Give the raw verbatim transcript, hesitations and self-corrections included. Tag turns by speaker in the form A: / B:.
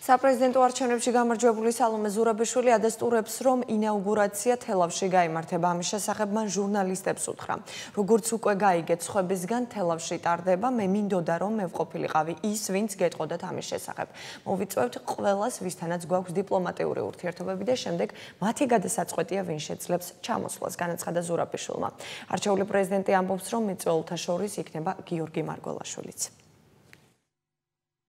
A: საპრეზიდენტო არჩევნებში გამარჯვებული სალომე ზურაბიშვილი ადასტურებს, რომ ინაუგურაცია თელავში გაიმართება. ამის შესახებ მან ჟურნალისტებს უთხრა. როგორც უკვე გაიგეთ სხვებისგან, თელავში ტარდება, მე მინდოდა რომ მე ვყოფილიყავი ის, ვინც გეტყოდათ ამის შესახებ. მოვიწვევთ ყველას, ვისთანაც გვაქვს დიპლომატიური ურთიერთობები და შემდეგ მათი გადასაწყვეტია, ვინ შეძლებს ჩამოსვლას, განაცხადა ზურაბიშვილმა. არჩეული პრეზიდენტი ამბობს, რომ მიწვეულთა შორის იქნება გიორგი მარგველაშვილიც.